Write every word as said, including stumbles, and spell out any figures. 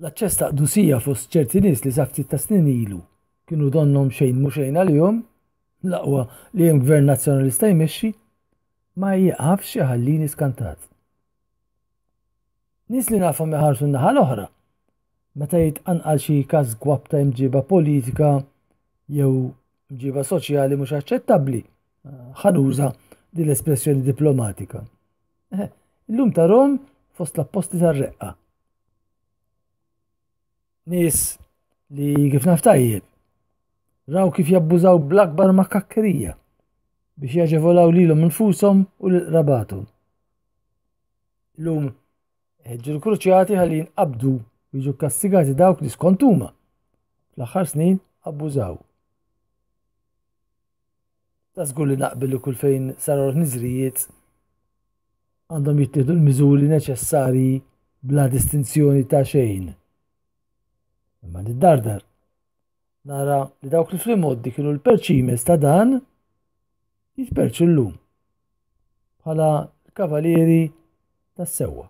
L-aċċess ta' qdusija fost ċerti nies li sa ftit ta' snin ilu kienu donnhom xejn mhu xejn għalihom, l-aqwa li hemm gvern nazzjonalista jmexxi, ma jieqafx iħallini skantat. Nies li nafhom iħarsu n-naħa l-oħra meta jitqanqal xi każ gwapp ta' imġiba politika jew mġiba soċjali mhux aċċettabbli. Ħa nuża din l-espressjoni diplomatika. Eh, illum tarhom fost l-apposti tar-reqqa. Nies li kif naf tajjeb raw kif jabbużaw bl-akbar makakkerija biex jaġevolaw lilhom infushom u lil qrabathom. Illum ħeġġu l-kruċjati ħalli jinqabdu u jiġu kastigati dawk li skont huma fl-aħħar snin abbużaw. Ta' żgur li naqbel li kull fejn saru ħniżrijiet għandhom jittieħdu l-miżuri neċessarji bla distinzjoni ta' xejn. Imma niddardar nara li dawk li fl-imgħoddi kienu l-perċimes ta' dan jitperċu llum bħala l-kavalieri tas-sewwa.